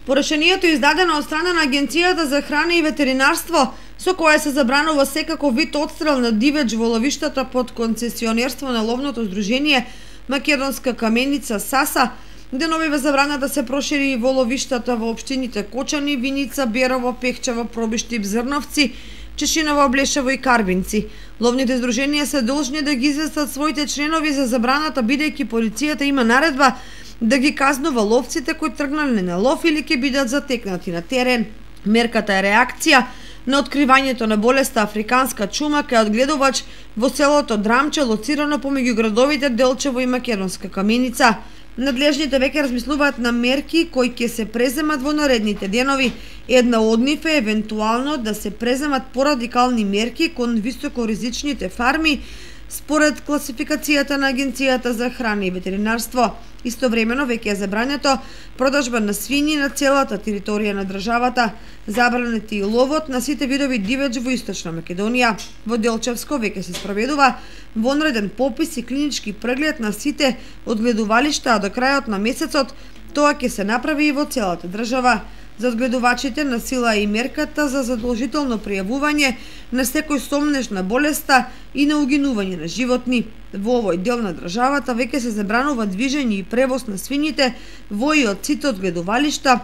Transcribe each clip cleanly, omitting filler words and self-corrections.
По решението издадено од страна на Агенцијата за храна и ветеринарство, со кое се забранува секако вид отстрел на дивеч во ловиштата под концесионерство на ловното здружение Македонска каменица САСА, деновиве забрана да се прошири и во ловиштата во општините Кочани, Виница, Берово, Пехчево, Пробиштип, Зрновци, Чешиново, Блешево и Карбинци. Ловните здруженија се должни да ги известат своите членови за забраната, бидејќи полицијата има наредба да ги казнува ловците кои тргнале на лов или ќе бидат затекнати на терен. Мерката е реакција на откривањето на болеста африканска чума кај одгледувач во селото Драмче, лоцирано помеѓу градовите Делчево и Македонска каменица. Надлежните веќе размислуваат на мерки кои ќе се преземат во наредните денови. Една од нив е евентуално да се преземат порадикални мерки кон високоризичните фарми според класификацијата на Агенцијата за храна и ветеринарство. Истовремено веќе е забрането продажба на свињи на целата територија на државата. Забранет и ловот на сите видови дивеч во Источна Македонија. Во Делчевско веќе се спроведува вонреден попис и клинички преглед на сите одгледувалишта, а до крајот на месецот тоа ќе се направи и во целата држава. За одгледувачите на сила и мерката за задолжително пријавување на секој сомнеж на болеста и на угинување на животни. Во овој дел на државата веќе се забранува движење и превоз на свињите во и од сите одгледувалишта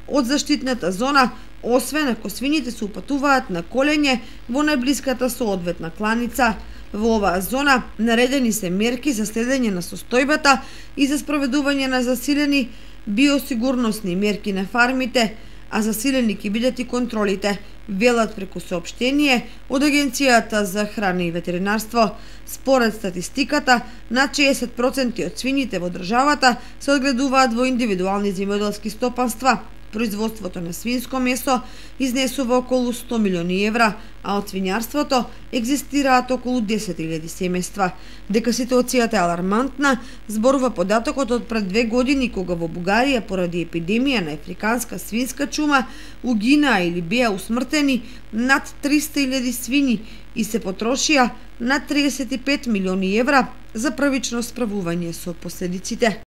од заштитната зона, освен ако свињите се упатуваат на колење во најблиската соодветна кланица. Во оваа зона наредени се мерки за следење на состојбата и за спроведување на засилени биосигурносни мерки на фармите, а засилени ќе бидат и контролите, велат преку соопштение од Агенцијата за храна и ветеринарство. Според статистиката, над 60% од свињите во државата се одгледуваат во индивидуални земјоделски стопанства. Производството на свинско месо изнесува околу 100 милиони евра, а од свињарството екзистираат околу 10.000 семејства. Дека ситуацијата е алармантна, зборува податокот од пред 2 години кога во Бугарија поради епидемија на африканска свинска чума угинаа или беа усмртени над 300.000 свињи и се потрошија над 35 милиони евра за првично справување со последиците.